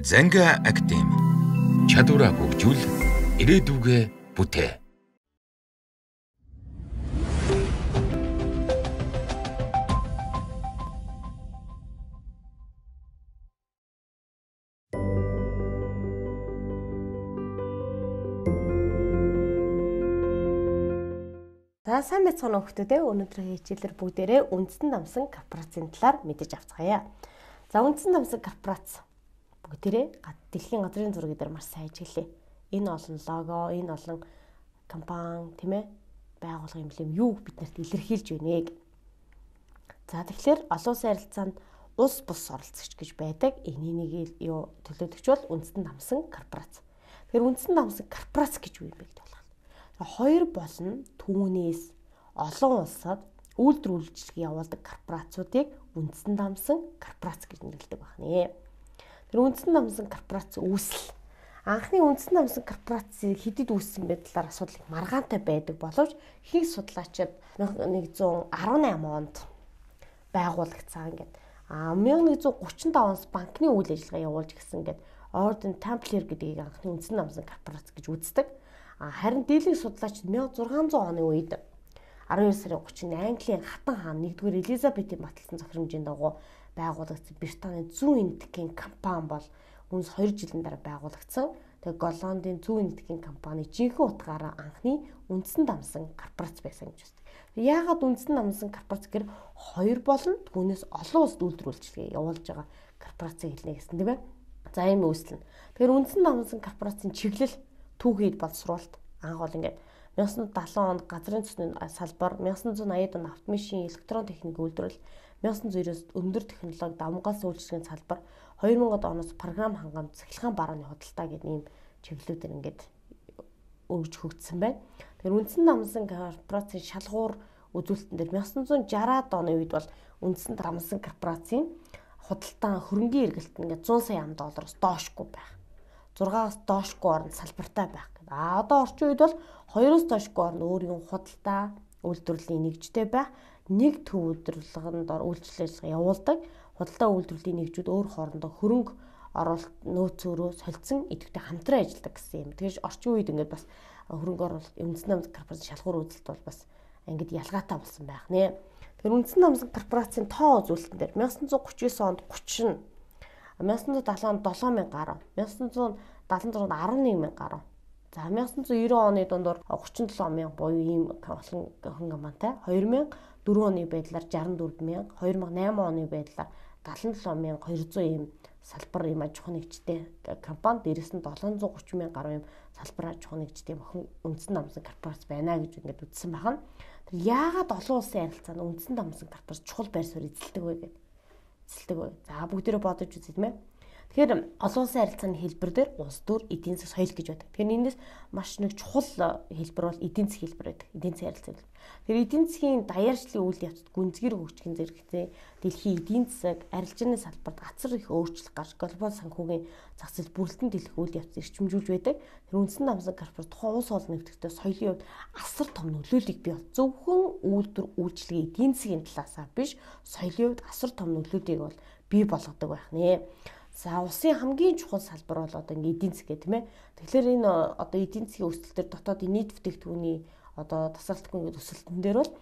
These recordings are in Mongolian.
Занга академи чадвараа хөгжүүл ирээдүгэ бүтээ. За сайн байцгаана уу хүмүүстээ. Өнөөдрийн хичээлээр бүгдээрээ үндсэн намсан корпорацийн талаар мэдэж авцгаая. За үндсэн намсан корпорац бүгдээрээ дэлхийн газрын зураг дээр маш сайн ажиглая. Энэ олон лого, энэ олон компани, тийм ээ, байгууллага эмблем юу биднэрт илэрхийлж байна гэх. За тэгэхээр олон улсын харилцаанд улс бус оролцогч гэж байдаг. Энийг юу төлөөлөгч бол үндсэн намсан корпорац. Тэгэхээр үндсэн намсан корпорац гэж юу юм бэ гэдэг байна. Хоёр болно түүнээс олон улсад үйлдвэр үйлчилгээ явуулдаг корпорацуудыг үндсэн намсан корпорац гэж нэрлэдэг байна. Тэр үндсэн намсан корпорац үүсэл анхны үндсэн намсан корпорацийг хэдэд үүссэн бэ талаар асуудал их маргаантай байдаг боловч ихэнх судлаачид 1918 онд байгуулагдсан гэдэг. 1935 оноос банкны үйл ажиллагаа явуулж гисэн гэдэг Orden Templar гэдгийг анхны үндсэн намсан корпорац гэж үздэг. Харин дийлэнх судлаач 1600 оны үед 12 сарын 30-нд Английн хатан хаан 1-р Элизабетийн баталсан захирамжийн дагуу байгуулагдсан Британийн зүүн эндхийн компани бол үнс 2 жилийн дараа байгуулагдсан. Тэгээ Голландын зүүн эндхийн компани жинхэнэ утгаараа анхны үндсэн намсан корпорац байсан гэж байна. Яагаад үндсэн намсан корпорац гэхээр хоёр болно түүнээс олон улсад үйлдвэр үйлчилгээ явуулж байгаа корпорацийг хэлнэ гэсэн тийм ээ. За ийм үүсэл нь. Тэгэхээр үндсэн намсан корпорацийн чиглэл түүхийд боловсруулалт анх бол ингээд 1970 онд газрын цусны салбар, 1980-ад он автомашин, электрон техник үйлдвэрлэл, 1990-с өндөр технологи давмгаас үйлчлэгийн салбар, 2000-ад оноос програм хангамж, цахилгаан барааны худалдаа гэдэг ийм чиглэлүүдээр ингээд өргөж хөгжсөн байна. Тэгэхээр үндсэн намсан корпорацийн шалгуур үзүүлэлтэн дээр 1960-ад оны үед бол үндсэн намсан корпорацийн худалдаа хөрөнгийн эргэлт нь ингээд 100 сая $100 доошгүй байх. 6-аас доошгүй орнд салбартай байх гэдэг. Одоо орчин үед бол 2-оос доошгүй орнд өөрийн худалдаа үйлдвэрлэлийн нэгжтэй байх, нэг төв үйлдвэрлэлд үйлчлэл явуулдаг, худалдаа үйлдвэрлэлийн нэгжүүд өөр хоорондоо хөрөнгө оруулалт нөөцөөрөө солилцсон идэвхтэй хамтран ажилладаг гэсэн юм. Тэгэхээр орчин үед ингээд бас хөрөнгө оруулалт үндсэн намсан корпорацийн шалгуур үзэлт бол бас ингээд ялгаатай болсон байх нэ. Тэгэхээр үндсэн намсан корпорацийн тоо үзүүлэлтэн дээр 1939 онд 30 1970 онд 7,000 гаруй, 1976 онд 11,000 гаруй. За 1990 оны дундор 37,000 буюу ийм олон компанитай, 2004 оны байдлаар 64,000, 2008 оны байдлаар 77,200 ийм салбар ийм аж ахуйн нэгжтэй компани, дээрээс нь 730,000 гаруй ийм салбар аж ахуйн нэгжтэй үндсэн намсан корпорац байна гэж ингээд үзсэн байна. Тэр яагаад олон улсын харилцаанд үндсэн намсан корпорац чухал байр суурь эзэлдэг вэ гэдэг. За бүгдээрээ бодож үзье тийм ээ. Тэгэхээр олон улсын харилцааны хэлбэр дээр улс төр, эдийн засаг, соёл гэж байдаг. Тэгэхээр энэс маш нэг чухал хэлбэр бол эдийн засгийн хэлбэр байдаг. Эдийн засгийн харилцаа. Тэгэхээр эдийн засгийн даяарчлалын үйл явцад гүнзгэр хөгжихийн зэрэгцээ дэлхийн эдийн засаг, арилжааны салбарт гацар их өөрчлөлт гарч глобал санхүүгийн зах зээл бүрэлдэн дэлгэх үйл явц эрчимжүүлж байдаг. Тэр үндсэн намсан корпорац тухайн улс олон нэгтгэдэг соёлын хувьд асар том нөлөөллийг бий бол зөвхөн үйлдвэр үйлчилгээ эдийн засгийн талаасаа биш, соёлын хувьд асар том нөлөөллийг бол бий болгодог байх нэ. За улсын хамгийн чухал салбар бол одоо ингээ эдийн засаг гэх тийм ээ. Тэгэхээр энэ одоо эдийн засгийн өсөлт төр дотоодын нийт бүтээгдэхүүний одоо тасралтгүй ингээ өсөлтөн дээр бол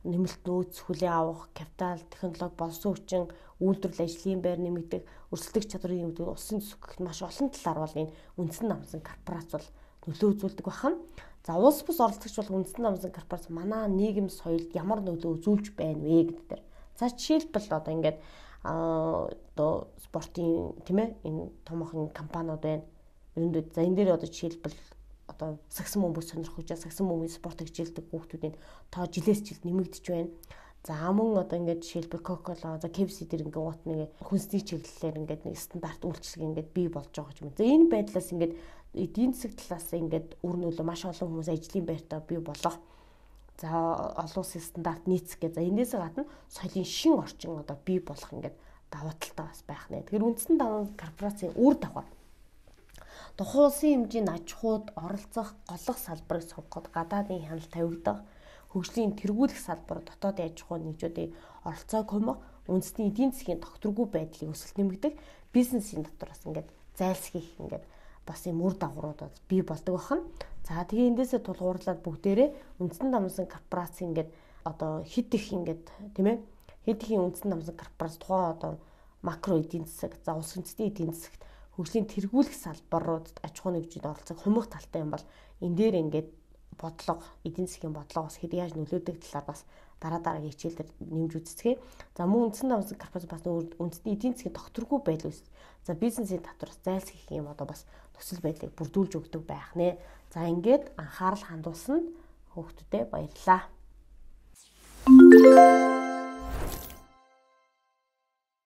нэмэлт нөөц, хүлээн авах, капитал, технологи, боловсон хүчин, үйлдвэрлэл ажлын байр нэмэгдэх, өрсөлдөх чадрын нэмэгдэх, улсын төсөв гэх маш олон талаар бол энэ үндсэн намсан корпорац бол нөлөө үзүүлдэг байна. За улс бус оролцогч бол үндсэн намсан корпорац манай нийгэм соёлд ямар нөлөө үзүүлж байна вэ гэдэг дээр. За жишээлбэл одоо ингээд одоо спортын тийм ээ энэ томоохон компаниуд байна. Ерөнхийдөө за энэ дээр одоо жишээлбэл одоо сагсан бөмбөг сонирхож сагсан бөмбөгийн спортыг хичээлдэг хүүхдүүдийн тоо жилээс жилд нэмэгдэж байна. За мөн одоо ингээд жишээлбэл Coca-Cola, за KFC дээр ингээд уут нэг хүнсний чиглэлээр ингээд нэг стандарт үйлчилгээ ингээд бий болж байгаа юм. За энэ байдлаас ингээд эдийн засаг талаас ингээд үр нөлөө маш олон хүмүүс ажлын байртаа бий болгох. За олон улсын стандарт нийцэх гэж. За энэс гадна соёлын шин орчин одоо бий болох ингээд давуу талтай бас байх нэ. Тэгэхээр үндсэн давуу корпорацийн үр дагавар тухайн улсын хэмжээний аж ахуйд оролцох голлох салбарыг сонгоход гадаадын хяналт тавигдах, хөгжлийн тэргүүлэх салбар дотоодын аж ахуйн нэгжүүдийн оролцоог хомох, үндэсний эдийн засгийн тогтворгүй байдлыг өсөлт нэмэгдэх, бизнесийн дотор бас ингээд зайлсхийх ингээд бас юм үр дагаврууд бий болдог байна. За тэгээ эндээсээ тулгуурлаад бүгдээрээ үндэстэн дамжсан корпорац ингээд одоо хэд их ингээд тийм ээ хэд ихийн үндэстэн дамжсан корпорац тухайн одоо макро эдийн засаг, за улс үндэстний эдийн засагт хөгжлийн тэргүүлэх салбарууд аж ахуйн нэгжид оролцох хумх талтай юм бол энэ дээр ингээд бодлого, эдийн засгийн бодлого бас хэд яаж нөлөөдөг талаар бас дараагийн хичээлээр нэмж үзцгээе. За мөн үндэстэн дамжсан корпорац бас үндэстний эдийн засгийн докторгүй байдал үүс. За бизнесийн татвараас зайлсхийх юм одоо бас төсөл байдлыг бүрдүүлж өгдөг байх нэ. За ингээд анхаарал хандуулсан хүүхдүүдэд баярлалаа.